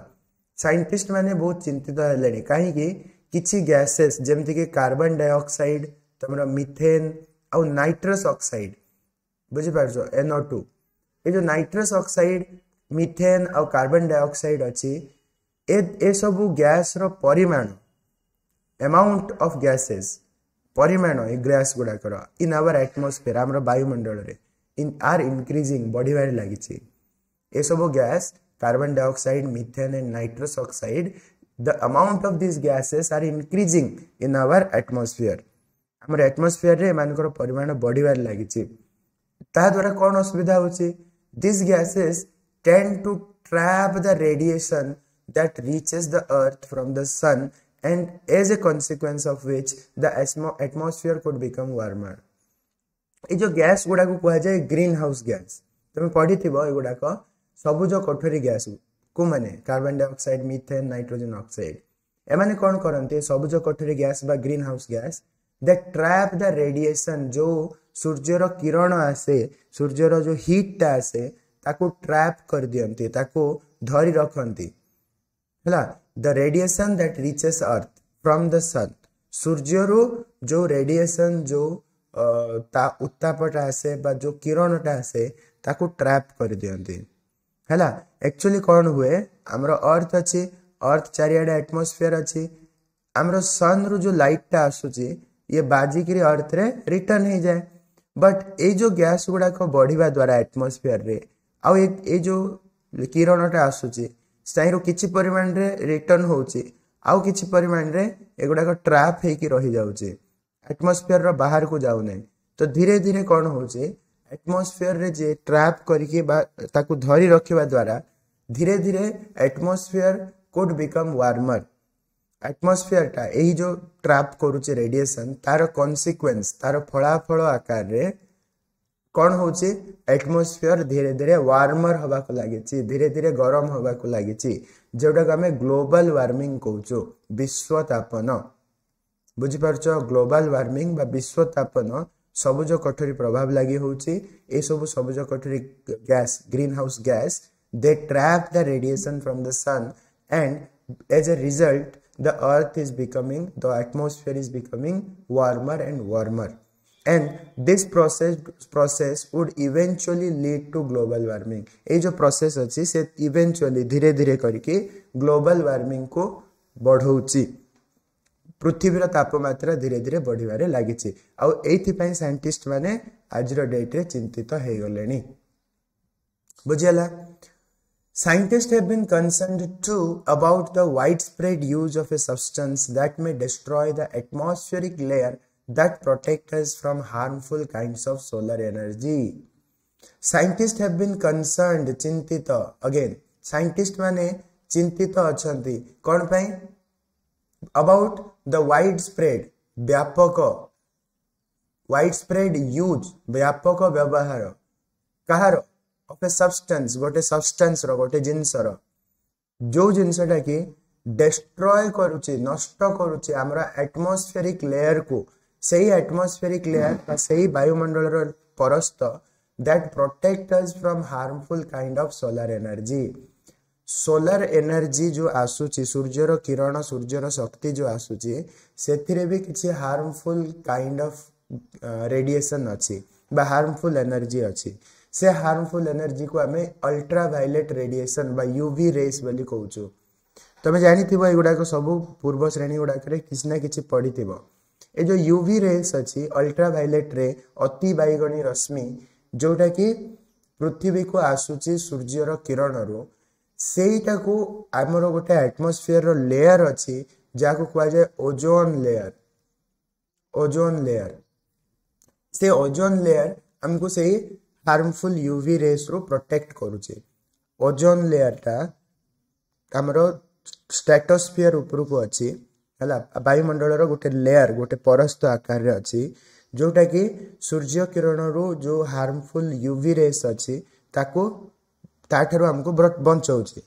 ସାଇଣ୍ଟିଷ୍ଟ ମାନେ ବହୁତ ଚିନ୍ତିତ ହେଲେଣି। କାହିଁକି? କିଛି ଗ୍ୟାସେସ୍ ଯେମିତିକି କାର୍ବନ ଡାଇଅକ୍ସାଇଡ୍, ତମର ମିଥେନ୍ ଆଉ ନାଇଟ୍ରସ୍ ଅକ୍ସାଇଡ୍, ବୁଝିପାରୁଛ, NO2, ଏ ଯେଉଁ ନାଇଟ୍ରସ୍ ଅକ୍ସାଇଡ୍, ମିଥେନ୍ ଆଉ କାର୍ବନ ଡାଇଅକ୍ସାଇଡ୍ ଅଛି, ଏସବୁ ଗ୍ୟାସ୍ର ପରିମାଣ, ଆମାଉଣ୍ଟ ଅଫ୍ ଗ୍ୟାସେସ୍, ପରିମାଣ ଏ ଗ୍ୟାସ୍ ଗୁଡ଼ାକର ଇନ୍ ଆୱାର ଆଟମୋସ୍ଫିୟର, ଆମର ବାୟୁମଣ୍ଡଳରେ, ଇନ୍ ଆର୍ ଇନକ୍ରିଜିଂ, ବଢ଼ିବାରେ ଲାଗିଛି। ଏସବୁ gas, carbon dioxide, methane and nitrous oxide, the amount of these gases are increasing in our atmosphere. ଆମର ଆଟମୋସ୍ଫିୟରରେ ଏମାନଙ୍କର ପରିମାଣ ବଢ଼ିବାରେ ଲାଗିଛି। ତା ଦ୍ୱାରା କ'ଣ ଅସୁବିଧା ହେଉଛି? These gases tend to trap the radiation that reaches the earth from the sun, and as a consequence of which the atmosphere could become warmer. ଏଇ ଯେଉଁ ଗ୍ୟାସ୍ ଗୁଡ଼ାକୁ କୁହାଯାଏ ଗ୍ରୀନ୍ ହାଉସ୍ ଗ୍ୟାସ୍, ତମେ ପଢ଼ିଥିବ ଏଗୁଡ଼ାକ, ସବୁଜ କୋଠରୀ gas କୋଉମାନେ? Carbon dioxide, methane, nitrogen oxide. ଏମାନେ କ'ଣ କରନ୍ତି? ସବୁଜ କୋଠରୀ ଗ୍ୟାସ୍ ବା green house gas They trap the radiation. ଯେଉଁ ସୂର୍ଯ୍ୟର କିରଣ ଆସେ, ସୂର୍ଯ୍ୟର ଯେଉଁ ହିଟ୍ଟା ଆସେ, ତାକୁ ଟ୍ରାପ୍ କରିଦିଅନ୍ତି, ତାକୁ ଧରି ରଖନ୍ତି। ହେଲା, the radiation that reaches earth from the sun, ସୂର୍ଯ୍ୟରୁ ଯେଉଁ ରେଡ଼ିଏସନ୍, ଯେଉଁ ତା ଉତ୍ତାପଟା ଆସେ ବା ଯେଉଁ କିରଣଟା ଆସେ, ତାକୁ ଟ୍ରାପ୍ କରିଦିଅନ୍ତି। ହେଲା, ଆକ୍ଚୁଆଲି କ'ଣ ହୁଏ, ଆମର ଅର୍ଥ ଅଛି, ଅର୍ଥ ଚାରିଆଡ଼େ ଆଟମୋସ୍ଫିୟର ଅଛି। ଆମର ସନ୍ରୁ ଯେଉଁ ଲାଇଟ୍ଟା ଆସୁଛି, ଇଏ ବାଜିକିରି ଅର୍ଥରେ ରିଟର୍ନ ହେଇଯାଏ। ବଟ୍ ଏଇ ଯେଉଁ ଗ୍ୟାସ୍ ଗୁଡ଼ାକ ବଢ଼ିବା ଦ୍ୱାରା ଆଟମୋସ୍ଫିୟରରେ ଆଉ ଏଇ ଯେଉଁ କିରଣଟା ଆସୁଛି, ତାହିଁରୁ କିଛି ପରିମାଣରେ ରିଟର୍ନ ହେଉଛି, ଆଉ କିଛି ପରିମାଣରେ ଏଗୁଡ଼ାକ ଟ୍ରାପ୍ ହେଇକି ରହିଯାଉଛି, ଆଟମୋସ୍ଫିୟରର ବାହାରକୁ ଯାଉନାହିଁ। ତ ଧୀରେ ଧୀରେ କ'ଣ ହେଉଛି, ଆଟମୋସ୍ଫିୟରରେ ଯିଏ ଟ୍ରାପ୍ କରିକି ବା ତାକୁ ଧରି ରଖିବା ଦ୍ୱାରା ଧୀରେ ଧୀରେ ଆଟମୋସ୍ଫିୟର could become ୱାର୍ମର। ଆଟମୋସ୍ଫିୟରଟା ଏଇ ଯେଉଁ ଟ୍ରାପ୍ କରୁଛି ରେଡ଼ିଏସନ୍, ତାର କନସିକ୍ୱେନ୍ସ, ତାର ଫଳାଫଳ ଆକାରରେ କ'ଣ ହେଉଛି, ଆଟମୋସ୍ଫିୟର ଧୀରେ ଧୀରେ ୱାର୍ମର ହେବାକୁ ଲାଗିଛି, ଧୀରେ ଧୀରେ ଗରମ ହେବାକୁ ଲାଗିଛି, ଯେଉଁଟାକୁ ଆମେ ଗ୍ଲୋବାଲ ୱାର୍ମିଂ କହୁଛୁ, ବିଶ୍ୱତାପନ। ବୁଝିପାରୁଛ? ଗ୍ଲୋବାଲ ୱାର୍ମିଂ ବା ବିଶ୍ୱତାପନ ସବୁଜ କୋଠରୀ ପ୍ରଭାବ ଲାଗି ହେଉଛି। ଏସବୁ ସବୁଜ କୋଠରୀ gas, green house gas, they trap the radiation from the sun and as a result the earth is becoming, the atmosphere is becoming warmer and warmer, and this process would eventually lead to global warming. ଏଇ ଯେଉଁ process ଅଛି, ସେ eventually ଧୀରେ ଧୀରେ କରିକି global warming କୁ ବଢ଼ଉଛି। ପୃଥିବୀର ତାପମାତ୍ରା ଧୀରେ ଧୀରେ ବଢ଼ିବାରେ ଲାଗିଛି ଆଉ ଏଇଥିପାଇଁ ସାଇଣ୍ଟିଷ୍ଟ ମାନେ ଆଜିର ଡେଟ୍ରେ ଚିନ୍ତିତ ହେଇଗଲେଣି। ବୁଝିହେଲା? Scientists have been concerned too about the widespread use of a substance that may destroy the atmospheric layer that protect us from harmful kinds of solar energy. Scientists have been concerned, ଚିନ୍ତିତ। Again, scientist ମାନେ ଚିନ୍ତିତ ଅଛନ୍ତି। କ'ଣ ପାଇଁ? About the widespread, ବ୍ୟାପକ, widespread use, ବ୍ୟାପକ ବ୍ୟବହାର। କାହାର? ଅଫ୍ ଏ ସବଷ୍ଟାନ୍ସ, ଗୋଟେ ସବଷ୍ଟାନ୍ସର, ଗୋଟେ ଜିନିଷର, ଯୋଉ ଜିନିଷଟା କି ଡେଷ୍ଟ୍ରୟ କରୁଛି, ନଷ୍ଟ କରୁଛି ଆମର ଆଟମୋସ୍ଫେରିକ୍ ଲେୟରକୁ, ସେଇ ଆଟମୋସ୍ଫେରିକ୍ ଲେୟର ବା ସେଇ ବାୟୁମଣ୍ଡଳର ପରସ୍ତ that protect us from harmful kind of solar energy. Solar energy ଯେଉଁ ଆସୁଛି, ସୂର୍ଯ୍ୟର କିରଣ, ସୂର୍ଯ୍ୟର ଶକ୍ତି ଯେଉଁ ଆସୁଛି, ସେଥିରେ ବି କିଛି ହାର୍ମଫୁଲ୍ କାଇଣ୍ଡ ଅଫ୍ ରେଡ଼ିଏସନ୍ ଅଛି ବା ହାର୍ମଫୁଲ୍ ଏନର୍ଜି ଅଛି। ସେ ହାର୍ମଫୁଲ୍ ଏନର୍ଜିକୁ ଆମେ ଅଲ୍ଟ୍ରା ଭାଇଲେଟ୍ ରେଡ଼ିଏସନ୍ ବା ୟୁଭି ରେସ୍ ବୋଲି କହୁଛୁ। ତମେ ଜାଣିଥିବ, ଏଗୁଡ଼ାକ ସବୁ ପୂର୍ବ ଶ୍ରେଣୀ ଗୁଡ଼ାକରେ କିଛି ନା କିଛି ପଢ଼ିଥିବ। ଏ ଯେଉଁ ୟୁଭି ରେସ୍ ଅଛି, ଅଲ୍ଟ୍ରା ଭାଇଲେଟ୍ ରେ, ଅତି ବାଇଗଣୀ ରଶ୍ମି, ଯେଉଁଟାକି ପୃଥିବୀକୁ ଆସୁଛି ସୂର୍ଯ୍ୟର କିରଣରୁ, ସେଇଟାକୁ ଆମର ଗୋଟେ ଆଟମୋସ୍ଫିୟରର ଲେୟର ଅଛି, ଯାହାକୁ କୁହାଯାଏ ଓଜୋନ ଲେୟର। ଓଜୋନ ଲେୟର, ସେ ଓଜୋନ ଲେୟର ଆମକୁ ସେଇ ହାର୍ମଫୁଲ୍ ୟୁଭି ରେସ୍ରୁ ପ୍ରୋଟେକ୍ଟ କରୁଛି। ଓଜୋନ ଲେୟରଟା ଆମର ଷ୍ଟ୍ରାଟୋସ୍ଫିୟର ଉପରକୁ ଅଛି। ହେଲା, ବାୟୁମଣ୍ଡଳର ଗୋଟେ ଲେୟର, ଗୋଟେ ପରସ୍ତ ଆକାରରେ ଅଛି, ଯେଉଁଟାକି ସୂର୍ଯ୍ୟ କିରଣରୁ ଯେଉଁ ହାର୍ମଫୁଲ୍ ୟୁଭି ରେସ୍ ଅଛି, ତାକୁ ତାଠାରୁ ଆମକୁ ବଞ୍ଚଉଛି।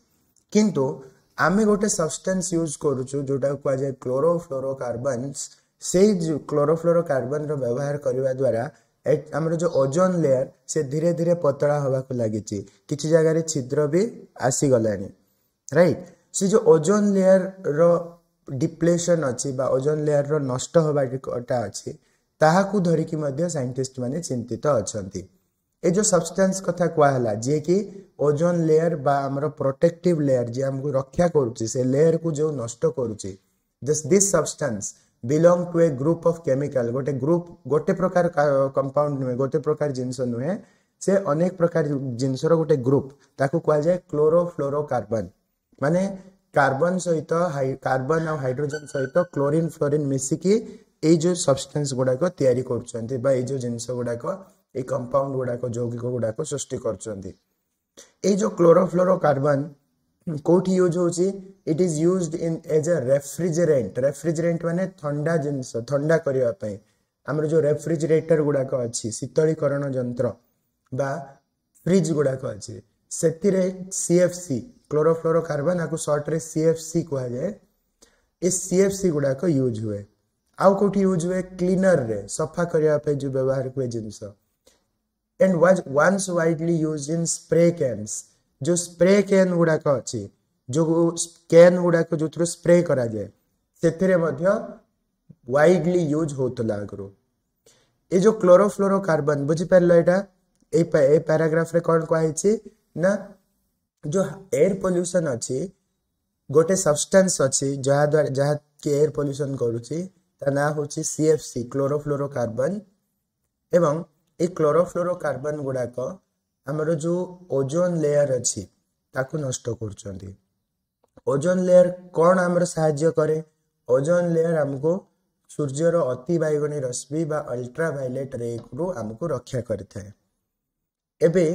କିନ୍ତୁ ଆମେ ଗୋଟେ ସବଷ୍ଟାନ୍ସ ୟୁଜ୍ କରୁଛୁ, ଯେଉଁଟାକୁ କୁହାଯାଏ କ୍ଲୋରୋଫ୍ଲୋରୋକାର୍ବନ୍ସ। ସେଇ କ୍ଲୋରୋଫ୍ଲୋରୋକାର୍ବନର ବ୍ୟବହାର କରିବା ଦ୍ୱାରା ଆମର ଯେଉଁ ଓଜୋନ ଲେୟର, ସେ ଧୀରେ ଧୀରେ ପତଳା ହେବାକୁ ଲାଗିଛି, କିଛି ଜାଗାରେ ଛିଦ୍ର ବି ଆସିଗଲାଣି, ରାଇଟ୍? ସେ ଯେଉଁ ଓଜୋନ ଲେୟରର ଡିପ୍ଲେସନ୍ ଅଛି ବା ଓଜୋନ ଲେୟରର ନଷ୍ଟ ହେବାଟା ଅଛି, ତାହାକୁ ଧରିକି ମଧ୍ୟ ସାଇଣ୍ଟିଷ୍ଟ ମାନେ ଚିନ୍ତିତ ଅଛନ୍ତି। ଏ ଯେଉଁ ସବଷ୍ଟାନ୍ସ କଥା କୁହାହେଲା, ଯିଏକି ଓଜୋନ ଲେୟର ବା ଆମର ପ୍ରୋଟେକ୍ଟିଭ ଲେୟର, ଯିଏ ଆମକୁ ରକ୍ଷା କରୁଛି, ସେ ଲେୟରକୁ ଯେଉଁ ନଷ୍ଟ କରୁଛି, this substance belong to a group of chemical. ଗୋଟେ ଗ୍ରୁପ୍, ଗୋଟେ ପ୍ରକାର କମ୍ପାଉଣ୍ଡ ନୁହେଁ, ଗୋଟେ ପ୍ରକାର ଜିନିଷ ନୁହେଁ, ସେ ଅନେକ ପ୍ରକାର ଜିନିଷର ଗୋଟେ ଗ୍ରୁପ୍। ତାକୁ କୁହାଯାଏ କ୍ଲୋରୋଫ୍ଲୋରୋକାର୍ବନ। ମାନେ କାର୍ବନ ସହିତ, କାର୍ବନ ଆଉ ହାଇଡ୍ରୋଜେନ ସହିତ କ୍ଲୋରିନ୍ ଫ୍ଲୋରିନ୍ ମିଶିକି ଏଇ ଯେଉଁ ସବଷ୍ଟାନ୍ସ ଗୁଡ଼ାକ ତିଆରି କରୁଛନ୍ତି ବା ଏଇ ଯେଉଁ ଜିନିଷ ଗୁଡ଼ାକ, ଏଇ କମ୍ପାଉଣ୍ଡ ଗୁଡ଼ାକ, ଯୌଗିକ ଗୁଡ଼ାକ ସୃଷ୍ଟି କରୁଛନ୍ତି। ଏଇ ଯେଉଁ କ୍ଲୋରୋଫ୍ଲୋରୋକାର୍ବନ କୋଉଠି ୟୁଜ୍ ହେଉଛି? It is used in as a refrigerant. Refrigerant ମାନେ ଥଣ୍ଡା ଜିନିଷ, ଥଣ୍ଡା କରିବା ପାଇଁ ଆମର ଯେଉଁ ରେଫ୍ରିଜରେଟର ଗୁଡ଼ାକ ଅଛି, ଶୀତଳୀକରଣ ଯନ୍ତ୍ର ବା ଫ୍ରିଜ୍ ଗୁଡ଼ାକ ଅଛି, ସେଥିରେ ସିଏଫସି, କ୍ଲୋରୋଫ୍ଲୋରୋକାର୍ବନ, ଆକୁ ସର୍ଟରେ ସିଏଫସି କୁହାଯାଏ। ଏ ସିଏଫସି ଗୁଡ଼ାକ ୟୁଜ୍ ହୁଏ। ଆଉ କେଉଁଠି ୟୁଜ୍ ହୁଏ? କ୍ଲିନରରେ, ସଫା କରିବା ପାଇଁ ଯେଉଁ ବ୍ୟବହାର ହୁଏ ଜିନିଷ। And was once widely use in spray cans. ଯେଉଁ ସ୍ପ୍ରେ can ଗୁଡ଼ାକ ଅଛି, ଯେଉଁ can ଗୁଡ଼ାକ ଯେଉଁଥିରୁ ସ୍ପ୍ରେ କରାଯାଏ, ସେଥିରେ ମଧ୍ୟ ୱାଇଡଲି ୟୁଜ୍ ହେଉଥିଲା ଆଗରୁ। ଏ ଯେଉଁ କ୍ଲୋରୋଫ୍ଲୋରୋକାର୍ବନ, ବୁଝିପାରିଲ ଏଇଟା? ଏଇ ପ୍ୟାରାଗ୍ରାଫରେ କ'ଣ କୁହାହେଇଛି ନା ଯେଉଁ ଏୟାର ପଲ୍ୟୁସନ୍ ଅଛି, ଗୋଟେ ସବଷ୍ଟାନ୍ସ ଅଛି ଯାହାଦ୍ୱାରା ଯାହାକି ଏୟାର ପଲ୍ୟୁସନ୍ କରୁଛି, ତା ନାଁ ହେଉଛି CFC, chlorofluorocarbon. ଏବଂ ଏଇ କ୍ଲୋରୋଫ୍ଲୋରୋକାର୍ବନ ଗୁଡ଼ାକ ଆମର ଯେଉଁ ଓଜୋନ୍ ଲେୟର ଅଛି ତାକୁ ନଷ୍ଟ କରୁଛନ୍ତି। ଓଜୋନ୍ ଲେୟର କ'ଣ ଆମର ସାହାଯ୍ୟ କରେ? ଓଜୋନ୍ ଲେୟର ଆମକୁ ସୂର୍ଯ୍ୟର ଅତି ବାଇଗଣୀ ରଶ୍ମି ବା ଅଲ୍ଟ୍ରା ଭାଇଲେଟ୍ ରେରୁ ଆମକୁ ରକ୍ଷା କରିଥାଏ। ଏବେ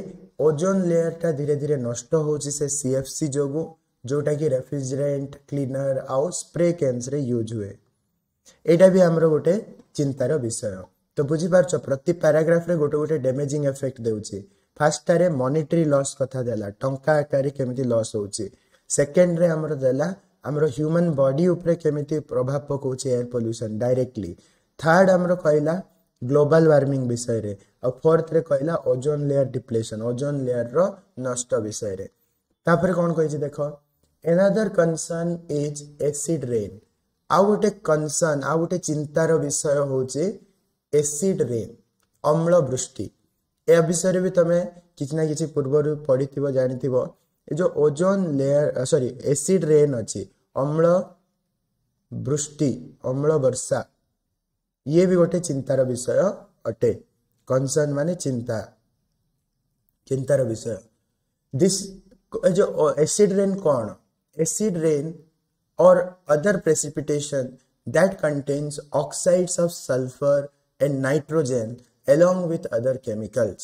ଓଜୋନ୍ ଲେୟରଟା ଧୀରେ ଧୀରେ ନଷ୍ଟ ହେଉଛି ସେ CFC ଯୋଗୁଁ, ଯେଉଁଟାକି ରେଫ୍ରିଜରେଣ୍ଟ, କ୍ଲିନର ଆଉ ସ୍ପ୍ରେ କ୍ୟାନ୍ସରେ ୟୁଜ୍ ହୁଏ। ଏଇଟା ବି ଆମର ଗୋଟେ ଚିନ୍ତାର ବିଷୟ। ତ ବୁଝିପାରୁଛ, ପ୍ରତି ପ୍ୟାରାଗ୍ରାଫରେ ଗୋଟେ ଗୋଟେ ଡ୍ୟାମେଜିଂ ଏଫେକ୍ଟ ଦେଉଛି। ଫାର୍ଷ୍ଟଟାରେ ମନିଟାରୀ ଲସ୍ କଥା ଦେଲା, ଟଙ୍କା ଆକାରରେ କେମିତି ଲସ୍ ହେଉଛି। ସେକେଣ୍ଡରେ ଆମର ଦେଲା ଆମର ହ୍ୟୁମାନ୍ ବଡି ଉପରେ କେମିତି ପ୍ରଭାବ ପକାଉଛି ଏୟାର ପଲ୍ୟୁସନ୍ ଡାଇରେକ୍ଟଲି। ଥାର୍ଡ ଆମର କହିଲା ଗ୍ଲୋବାଲ ୱାର୍ମିଂ ବିଷୟରେ। ଆଉ ଫୋର୍ଥରେ କହିଲା ଓଜୋନ୍ ଲେୟର ଡିପ୍ଲେସନ୍, ଓଜୋନ୍ ଲେୟରର ନଷ୍ଟ ବିଷୟରେ। ତାପରେ କ'ଣ କହିଛି ଦେଖ, another concern is acid rain. ଆଉ ଗୋଟେ କନସର୍ନ, ଆଉ ଗୋଟେ ଚିନ୍ତାର ବିଷୟ ହେଉଛି ଏସିଡ୍ ରେନ୍, ଅମ୍ଳ ବୃଷ୍ଟି। ଏ ବିଷୟରେ ବି ତମେ କିଛି ନା କିଛି ପୂର୍ବରୁ ପଢ଼ିଥିବ, ଜାଣିଥିବ। ଏ ଯେଉଁ ozone layer sorry acid rain ଅଛି, ଅମ୍ଳ ବୃଷ୍ଟି, ଅମ୍ଳ ବର୍ଷା, ଇଏ ବି ଗୋଟେ ଚିନ୍ତାର ବିଷୟ ଅଟେ। କନସର୍ନ ମାନେ ଚିନ୍ତା, ଚିନ୍ତାର ବିଷୟ। This ଏ ଯେଉଁ ଏସିଡ୍ ରେନ୍ କ'ଣ? Acid rain or other precipitation that contains oxides of sulfur and nitrogen along with other chemicals.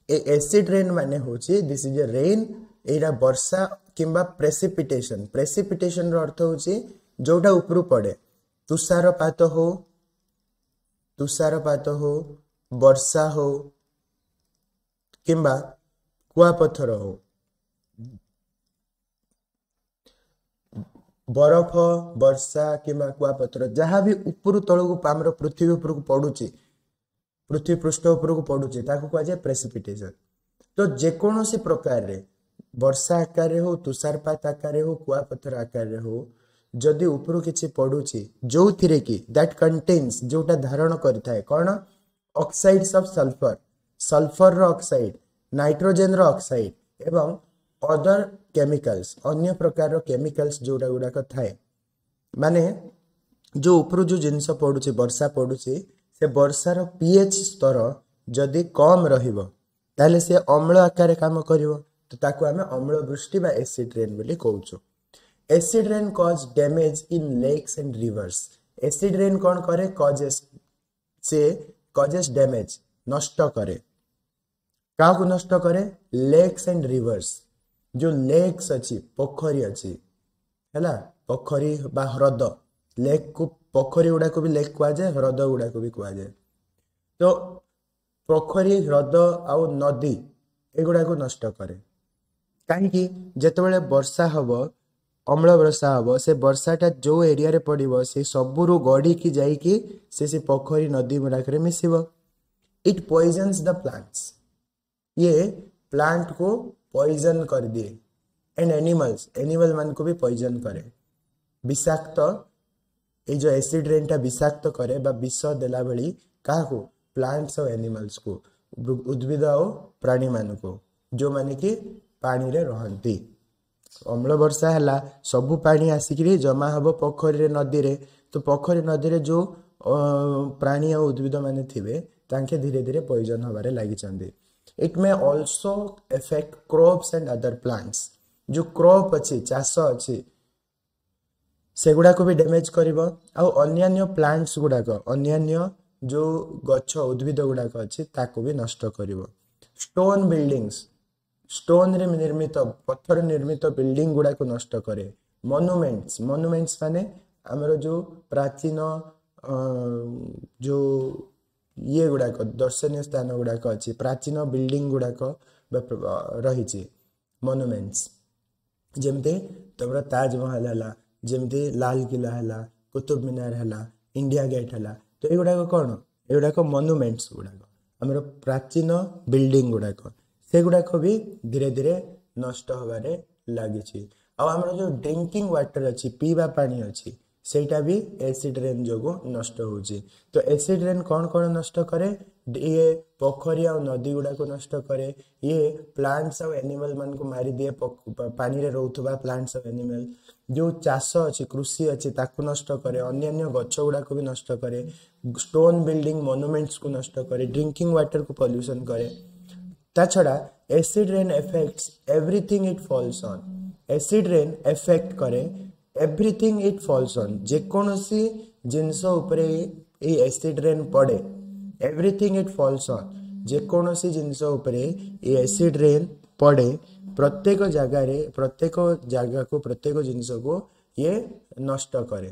A acid rain ମାନେ ହେଉଛି this is a rain, ଏଇଟା ବର୍ଷା କିମ୍ବା ପ୍ରେସିପିଟେସନ୍। ପ୍ରେସିପିଟେସନର ଅର୍ଥ ହେଉଛି ଯୋଉଟା ଉପରୁ ପଡ଼େ, ତୁଷାରପାତ ହଉ, ତୁଷାରପାତ ହଉ, ବର୍ଷା ହଉ କିମ୍ବା କୁଆପଥର ହଉ, ବରଫ, ବର୍ଷା କିମ୍ବା କୁଆପଥର, ଯାହା ବି ଉପରୁ ତଳକୁ ଆମର ପୃଥିବୀ ଉପରକୁ ପଡୁଛି, ପୃଥିବୀ ପୃଷ୍ଠ ଉପରକୁ ପଡୁଛି, ତାକୁ କୁହାଯାଏ ପ୍ରେସିପିଟେସନ। ତ ଯେକୌଣସି ପ୍ରକାରରେ ବର୍ଷା ଆକାରରେ ହଉ, ତୁଷାରପାତ ଆକାରରେ ହଉ, କୁଆପଥର ଆକାରରେ ହଉ, ଯଦି ଉପରୁ କିଛି ପଡୁଛି ଯୋଉଥିରେ କି that contains, ଯୋଉଟା ଧାରଣ କରିଥାଏ କ'ଣ? ଅକ୍ସାଇଡ୍ସ ଅଫ୍ ସଲଫର, ସଲଫରର ଅକ୍ସାଇଡ୍, ନାଇଟ୍ରୋଜେନର ଅକ୍ସାଇଡ୍ ଏବଂ ଅଦର କେମିକାଲ୍ସ, ଅନ୍ୟ ପ୍ରକାରର କେମିକାଲ୍ସ ଯୋଉଟା ଗୁଡ଼ାକ ଥାଏ। ମାନେ ଯୋଉ ଉପରୁ ଯୋଉ ଜିନିଷ ପଡୁଛି, ବର୍ଷା ପଡୁଛି, ସେ ବର୍ଷାର ପିଏଚ୍ ସ୍ତର ଯଦି କମ୍ ରହିବ ତାହେଲେ ସେ ଅମ୍ଳ ଆକାରରେ କାମ କରିବ। ତ ତାକୁ ଆମେ ଅମ୍ଳ ବୃଷ୍ଟି ବା ଏସିଡ୍ ରେନ୍ ବୋଲି କହୁଛୁ। Acid rain cause damage in lakes and rivers. Acid rain କ'ଣ କରେ? କଜେସ୍, ସେ କଜେସ୍ ଡ୍ୟାମେଜ୍, ନଷ୍ଟ କରେ। କାହାକୁ ନଷ୍ଟ କରେ? Lakes and reverse. ଯେଉଁ ଲେକ୍ସ ଅଛି, ପୋଖରୀ ଅଛି, ହେଲା, ପୋଖରୀ ବା ହ୍ରଦ, ଲେକ୍କୁ ପୋଖରୀ ଗୁଡ଼ାକୁ ବି ଲେକ୍ କୁହାଯାଏ, ହ୍ରଦ ଗୁଡ଼ାକୁ ବି କୁହାଯାଏ। ତ ପୋଖରୀ, ହ୍ରଦ ଆଉ ନଦୀ ଏଗୁଡ଼ାକୁ ନଷ୍ଟ କରେ। କାହିଁକି? ଯେତେବେଳେ ବର୍ଷା ହବ, ଅମ୍ଳ ବର୍ଷା ହବ, ସେ ବର୍ଷାଟା ଯେଉଁ ଏରିଆରେ ପଡ଼ିବ ସେ ସବୁରୁ ଗଡ଼ିକି ଯାଇକି ସେ ପୋଖରୀ ନଦୀ ଗୁଡ଼ାକରେ ମିଶିବ। ଇଟ୍ ପଏଜନ୍ସ ଦ ପ୍ଲାଣ୍ଟସ୍, ଇଏ ପ୍ଲାଣ୍ଟକୁ ପଏଜନ୍ କରିଦିଏ। ଆଣ୍ଡ ଆନିମଲ୍ସ, ଆନିମଲ୍ ମାନଙ୍କୁ ବି ପଏଜନ୍ କରେ। ବିଷାକ୍ତ, ଏଇ ଯେଉଁ ଏସିଡ୍ ରେନ୍ଟା ବିଷାକ୍ତ କରେ ବା ବିଷ ଦେଲା ଭଳି କାହାକୁ? ପ୍ଲାଣ୍ଟସ୍ ଆଉ ଆନିମଲ୍ସକୁ, ଉଦ୍ଭିଦ ଆଉ ପ୍ରାଣୀମାନଙ୍କୁ ଯେଉଁମାନେ କି ପାଣିରେ ରହନ୍ତି। ଅମ୍ଳ ବର୍ଷା ହେଲା, ସବୁ ପାଣି ଆସିକିରି ଜମା ହେବ ପୋଖରୀରେ, ନଦୀରେ। ତ ପୋଖରୀ ନଦୀରେ ଯେଉଁ ପ୍ରାଣୀ ଆଉ ଉଦ୍ଭିଦ ମାନେ ଥିବେ ତାଙ୍କେ ଧୀରେ ଧୀରେ ପଏଜନ୍ ହେବାରେ ଲାଗିଛନ୍ତି। It may also affect crops and other plants. ଯେଉଁ କ୍ରପ୍ ଅଛି, ଚାଷ ଅଛି, ସେଗୁଡ଼ାକୁ ବି ଡ୍ୟାମେଜ୍ କରିବ। ଆଉ ଅନ୍ୟାନ୍ୟ ପ୍ଲାଣ୍ଟସ୍ ଗୁଡ଼ାକ, ଅନ୍ୟାନ୍ୟ ଯେଉଁ ଗଛ ଉଦ୍ଭିଦ ଗୁଡ଼ାକ ଅଛି ତାକୁ ବି ନଷ୍ଟ କରିବ। ଷ୍ଟୋନ୍ ବିଲ୍ଡିଙ୍ଗସ୍, ଷ୍ଟୋନ୍ରେ ନିର୍ମିତ, ପଥର ନିର୍ମିତ ବିଲ୍ଡିଂ ଗୁଡ଼ାକୁ ନଷ୍ଟ କରେ। ମନୁମେଣ୍ଟସ୍, ମନୁମେଣ୍ଟସ୍ ମାନେ ଆମର ଯେଉଁ ପ୍ରାଚୀନ ଯେଉଁ ଇଏ ଗୁଡ଼ାକ, ଦର୍ଶନୀୟ ସ୍ଥାନ ଗୁଡ଼ାକ ଅଛି, ପ୍ରାଚୀନ ବିଲ୍ଡିଂ ଗୁଡ଼ାକ ରହିଛି, ମନୁମେଣ୍ଟସ୍, ଯେମିତି ତମର ତାଜମହଲ ହେଲା, ଯେମିତି ଲାଲକିଲ୍ଲା ହେଲା, କୁତୁବ ମିନାର ହେଲା, ଇଣ୍ଡିଆ ଗେଟ୍ ହେଲା, ତ ଏଗୁଡ଼ାକ କ'ଣ? ଏଗୁଡ଼ାକ ମନୁମେଣ୍ଟସ୍ ଗୁଡ଼ାକ, ଆମର ପ୍ରାଚୀନ ବିଲ୍ଡିଂ ଗୁଡ଼ାକ, ସେଗୁଡ଼ାକ ବି ଧୀରେ ଧୀରେ ନଷ୍ଟ ହେବାରେ ଲାଗିଛି। ଆଉ ଆମର ଯେଉଁ ଡ୍ରିଙ୍କିଂ ୱାଟର ଅଛି, ପିଇବା ପାଣି ଅଛି, ସେଇଟା ବି ଏସିଡ୍ ରେନ୍ ଯୋଗୁଁ ନଷ୍ଟ ହେଉଛି। ତ ଏସିଡ୍ ରେନ୍ କ'ଣ କ'ଣ ନଷ୍ଟ କରେ? ଇଏ ପୋଖରୀ ଆଉ ନଦୀ ଗୁଡ଼ାକୁ ନଷ୍ଟ କରେ। ଇଏ ପ୍ଲାଣ୍ଟସ୍ ଆଉ ଆନିମାଲ୍ ମାନଙ୍କୁ ମାରିଦିଏ, ପାଣିରେ ରହୁଥିବା ପ୍ଲାଣ୍ଟସ୍ ଆଉ ଆନିମାଲ୍। ଯେଉଁ ଚାଷ ଅଛି, କୃଷି ଅଛି, ତାକୁ ନଷ୍ଟ କରେ। ଅନ୍ୟାନ୍ୟ ଗଛ ଗୁଡ଼ାକୁ ବି ନଷ୍ଟ କରେ। ଷ୍ଟୋନ୍ ବିଲ୍ଡିଂ ମନୁମେଣ୍ଟସକୁ ନଷ୍ଟ କରେ। ଡ୍ରିଙ୍କିଂ ୱାଟରକୁ ପଲ୍ୟୁସନ୍ କରେ। ତା ଛଡ଼ା acid rain affects everything it falls on. Acid rain effect କରେ ଏଭ୍ରିଥିଙ୍ଗ ଇଟ୍ ଫଲ୍ସ ଅନ୍, ଯେକୌଣସି ଜିନିଷ ଉପରେ ଏଇ ଏସିଡ୍ ରେନ୍ ପଡ଼େ। ଏଭ୍ରିଥିଙ୍ଗ ଇଟ୍ ଫଲ୍ସ ଅନ୍, ଯେକୌଣସି ଜିନିଷ ଉପରେ ଏଇ ଏସିଡ୍ ରେନ୍ ପଡ଼େ, ପ୍ରତ୍ୟେକ ଜାଗାରେ, ପ୍ରତ୍ୟେକ ଜାଗାକୁ, ପ୍ରତ୍ୟେକ ଜିନିଷକୁ ଇଏ ନଷ୍ଟ କରେ।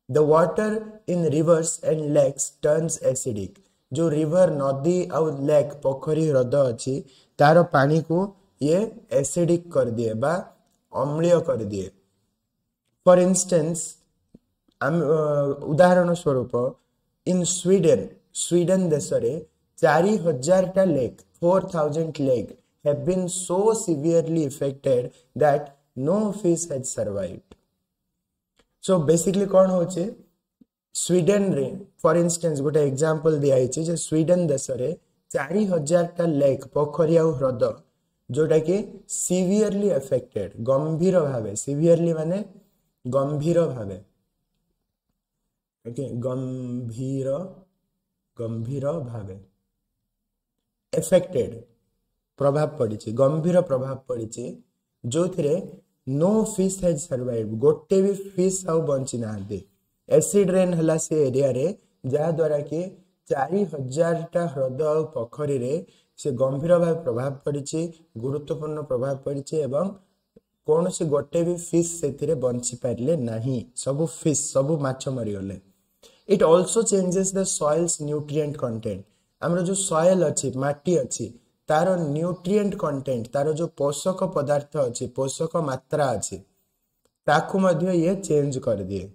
The water in rivers and lakes turns acidic. ଯେଉଁ ରିଭର, ନଦୀ ଆଉ ଲେକ୍, ପୋଖରୀ, ହ୍ରଦ ଅଛି, ତାର ପାଣିକୁ ଇଏ ଏସିଡିକ୍ କରିଦିଏ ବା ଅମ୍ଳୀୟ କରିଦିଏ। ଫର୍ ଇନଷ୍ଟାନ୍ସ, ଆମେ ଉଦାହରଣ ସ୍ୱରୂପ, ଇନ୍ ସ୍ୱିଡେନ୍, ସ୍ୱିଡେନ୍ ଦେଶରେ 4000ଟା lake, 4000 lake have been so severely affected that no fish has survived. So basically କ'ଣ ହେଉଛି ସ୍ୱିଡେନରେ? ଫର୍ ଇନଷ୍ଟାନ୍ସ, ଗୋଟେ ଏକ୍ଜାମ୍ପଲ୍ ଦିଆହେଇଛି ଯେ ସ୍ୱିଡେନ୍ ଦେଶରେ 4000ଟା ଲେକ୍, ପୋଖରୀ ଆଉ ହ୍ରଦ, ଯୋଉଟାକି ସିଭିୟରଲି ଏଫେକ୍ଟେଡ୍, ଗମ୍ଭୀର ଭାବେ, ସିଭିୟରଲି ମାନେ ଗମ୍ଭୀର ଭାବେ, ଓକେ, ଗମ୍ଭୀର ଭାବେ ଏଫେକ୍ଟେଡ୍, ପ୍ରଭାବ ପଡ଼ିଛି, ଗମ୍ଭୀର ପ୍ରଭାବ ପଡ଼ିଛି, ଯୋଉଥିରେ ନୋ ଫିସ୍ ହେଜ୍ ସର୍ଭାଇଭ୍, ଗୋଟେ ବି ଫିସ୍ ଆଉ ବଞ୍ଚି ନାହାନ୍ତି। ଏସିଡ୍ ରେନ୍ ହେଲା ସେ ଏରିଆରେ, ଯାହାଦ୍ୱାରା କି 4000ଟା ହ୍ରଦ ଆଉ ପୋଖରୀରେ ସେ ଗମ୍ଭୀର ଭାବେ ପ୍ରଭାବ ପଡ଼ିଛି, ଗୁରୁତ୍ୱପୂର୍ଣ୍ଣ ପ୍ରଭାବ ପଡ଼ିଛି ଏବଂ କୌଣସି ଗୋଟେ ବି ଫିସ୍ ସେଥିରେ ବଞ୍ଚି ପାରିଲେ ନାହିଁ। ସବୁ ଫିସ୍, ସବୁ ମାଛ ମରିଗଲେ। It also changes the soil's nutrient content. ଆମର ଯେଉଁ ସଏଲ୍ ଅଛି, ମାଟି ଅଛି, ତାର ନ୍ୟୁଟ୍ରିଏଣ୍ଟ କଣ୍ଟେଣ୍ଟ, ତାର ଯେଉଁ ପୋଷକ ପଦାର୍ଥ ଅଛି, ପୋଷକ ମାତ୍ରା ଅଛି, ତାକୁ ମଧ୍ୟ ଇଏ ଚେଞ୍ଜ କରିଦିଏ।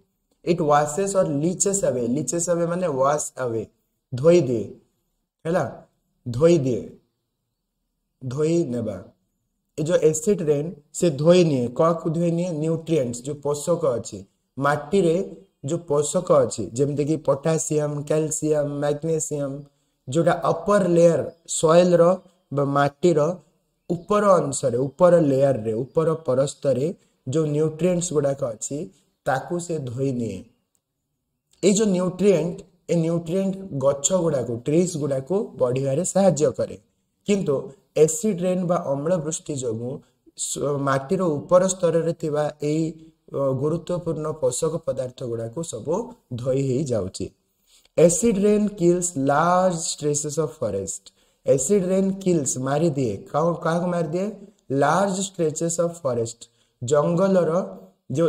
It washes or leaches away. Leaches away ମାନେ ୱାଶ ଆୱେ, ଧୋଇ ଦିଏ, ହେଲା, ଧୋଇ ଦିଏ, ଧୋଇ ନେବା। ଏ ଯେଉଁ ଏସିଡ୍ ରେନ୍ ସେ ଧୋଇ ନିଏ। କାହାକୁ ଧୋଇ ନିଏ? ନ୍ୟୁଟ୍ରିଏଣ୍ଟସ୍, ଯେଉଁ ପୋଷକ ଅଛି ମାଟିରେ, ଯେଉଁ ପୋଷକ ଅଛି, ଯେମିତିକି ପଟାସିୟମ, କ୍ୟାଲସିୟମ, ମ୍ୟାଗ୍ନେସିୟମ, ଯୋଉଟା ଅପର ଲେୟର ସଏଲର ବା ମାଟିର ଉପର ଅଂଶରେ, ଉପର ଲେୟରରେ, ଉପର ପରସ୍ତରେ ଯେଉଁ ନ୍ୟୁଟ୍ରିଏଣ୍ଟସ୍ ଗୁଡ଼ାକ ଅଛି, ତାକୁ ସେ ଧୋଇ ନିଏ। ଏଇ ଯେଉଁ ନ୍ୟୁଟ୍ରିଏଣ୍ଟ, ଏ ନ୍ୟୁଟ୍ରିଏଣ୍ଟ ଗଛ ଗୁଡ଼ାକୁ, ଟ୍ରିଜ୍ ଗୁଡ଼ାକୁ ବଢ଼ିବାରେ ସାହାଯ୍ୟ କରେ। କିନ୍ତୁ ଏସିଡ୍ ରେନ୍ ବା ଅମ୍ଳ ବୃଷ୍ଟି ଯୋଗୁଁ ମାଟିର ଉପର ସ୍ତରରେ ଥିବା ଏଇ ଗୁରୁତ୍ୱପୂର୍ଣ୍ଣ ପୋଷକ ପଦାର୍ଥ ଗୁଡ଼ାକୁ ସବୁ ଧୋଇ ହେଇଯାଉଛି। Acid rain kills large stretches of forest. Acid rain kills, ମାରିଦିଏ। କାହାକୁ ମାରିଦିଏ? ଲାର୍ଜ ଷ୍ଟ୍ରେଚେସ୍ ଅଫ୍ ଫରେଷ୍ଟ, ଜଙ୍ଗଲର ଯେଉଁ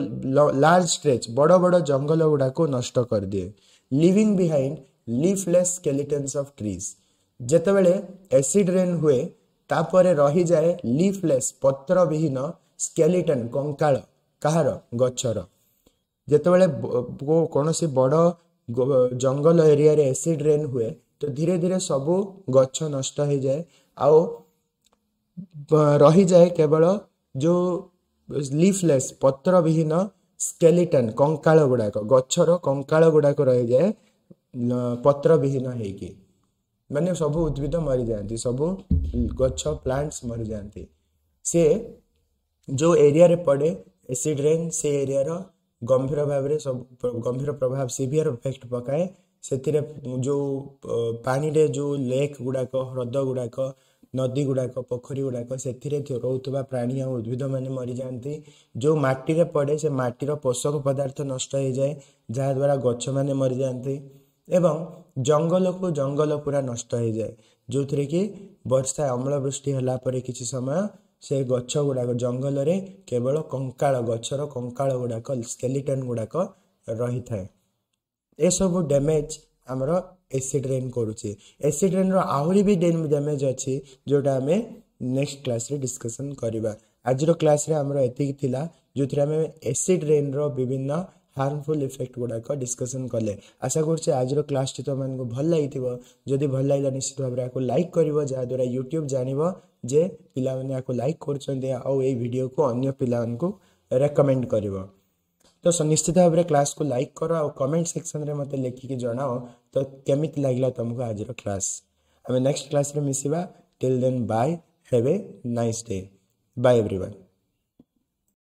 ଲାର୍ଜ ଷ୍ଟ୍ରେଚ୍, ବଡ଼ ବଡ଼ ଜଙ୍ଗଲ ଗୁଡ଼ାକୁ ନଷ୍ଟ କରିଦିଏ, leaving behind leafless skeletons of trees. ଯେତେବେଳେ ଏସିଡ୍ ରେନ୍ ହୁଏ, ତାପରେ ରହିଯାଏ ଲିଫଲେସ୍, ପତ୍ରବିହୀନ, ସ୍କେଲିଟନ୍, କଙ୍କାଳ। କାହାର? ଗଛର। ଯେତେବେଳେ କୌଣସି ବଡ଼ ଜଙ୍ଗଲ ଏରିଆରେ ଏସିଡ୍ ରେନ୍ ହୁଏ, ତ ଧୀରେ ଧୀରେ ସବୁ ଗଛ ନଷ୍ଟ ହେଇଯାଏ ଆଉ ରହିଯାଏ କେବଳ ଯେଉଁ ଲିଫଲେସ୍, ପତ୍ରବିହୀନ ସ୍କେଲିଟନ୍, କଙ୍କାଳ ଗୁଡ଼ାକ, ଗଛର କଙ୍କାଳ ଗୁଡ଼ାକ ରହିଯାଏ ପତ୍ରବିହୀନ ହେଇକି। ମାନେ ସବୁ ଉଦ୍ଭିଦ ମରିଯାଆନ୍ତି, ସବୁ ଗଛ, ପ୍ଲାଣ୍ଟସ୍ ମରିଯାଆନ୍ତି। ସେ ଯେଉଁ ଏରିଆରେ ପଡ଼େ ଏସିଡ୍ ରେନ୍, ସେ ଏରିଆର ଗମ୍ଭୀର ଭାବରେ ସବୁ ଗମ୍ଭୀର ପ୍ରଭାବ, ସିଭିୟର ଇଫେକ୍ଟ ପକାଏ। ସେଥିରେ ଯେଉଁ ପାଣିରେ ଯେଉଁ ଲେକ୍ ଗୁଡ଼ାକ, ହ୍ରଦ ଗୁଡ଼ାକ, ନଦୀ ଗୁଡ଼ାକ, ପୋଖରୀ ଗୁଡ଼ାକ, ସେଥିରେ ରହୁଥିବା ପ୍ରାଣୀ ଆଉ ଉଦ୍ଭିଦମାନେ ମରିଯାଆନ୍ତି। ଯେଉଁ ମାଟିରେ ପଡ଼େ, ସେ ମାଟିର ପୋଷକ ପଦାର୍ଥ ନଷ୍ଟ ହେଇଯାଏ, ଯାହାଦ୍ୱାରା ଗଛମାନେ ମରିଯାଆନ୍ତି ଏବଂ ଜଙ୍ଗଲକୁ ଜଙ୍ଗଲ ପୁରା ନଷ୍ଟ ହେଇଯାଏ, ଯେଉଁଥିରେ କି ବର୍ଷା ଅମ୍ଳ ବୃଷ୍ଟି ହେଲା ପରେ କିଛି ସମୟ ସେ ଗଛ ଗୁଡ଼ାକ, ଜଙ୍ଗଲରେ କେବଳ କଙ୍କାଳ, ଗଛର କଙ୍କାଳ ଗୁଡ଼ାକ, ସ୍କେଲିଟନ୍ ଗୁଡ଼ାକ ରହିଥାଏ। ଏସବୁ ଡ୍ୟାମେଜ୍ ଆମର ଏସିଡ୍ ରେନ୍ କରୁଛି। ଏସିଡ୍ ରେନ୍ର ଆହୁରି ବି ଡ୍ୟାମେଜ୍ ଅଛି, ଯେଉଁଟା ଆମେ ନେକ୍ସଟ କ୍ଲାସ୍ରେ ଡିସ୍କସନ୍ କରିବା। ଆଜିର କ୍ଲାସ୍ରେ ଆମର ଏତିକି ଥିଲା, ଯେଉଁଥିରେ ଆମେ ଏସିଡ୍ ରେନ୍ର ବିଭିନ୍ନ ହାର୍ମଫୁଲ୍ ଇଫେକ୍ଟ ଗୁଡ଼ାକ ଡିସ୍କସନ୍ କଲେ। ଆଶା କରୁଛି ଆଜିର କ୍ଲାସ୍ଟି ତୁମମାନଙ୍କୁ ଭଲ ଲାଗିଥିବ। ଯଦି ଭଲ ଲାଗିଲା, ନିଶ୍ଚିତ ଭାବରେ ଏହାକୁ ଲାଇକ୍ କରିବ, ଯାହାଦ୍ୱାରା ୟୁଟ୍ୟୁବ୍ ଜାଣିବ ଯେ ପିଲାମାନେ ଏହାକୁ ଲାଇକ୍ କରୁଛନ୍ତି ଆଉ ଏଇ ଭିଡ଼ିଓକୁ ଅନ୍ୟ ପିଲାମାନଙ୍କୁ ରେକମେଣ୍ଡ କରିବ। ତ ନିଶ୍ଚିତ ଭାବରେ କ୍ଲାସ୍କୁ ଲାଇକ୍ କର ଆଉ କମେଣ୍ଟ ସେକ୍ସନରେ ମୋତେ ଲେଖିକି ଜଣାଅ ତ କେମିତି ଲାଗିଲା ତୁମକୁ ଆଜିର କ୍ଲାସ୍। ଆମେ ନେକ୍ସଟ କ୍ଲାସ୍ରେ ମିଶିବା। Till then, bye, have a nice day, bye everyone.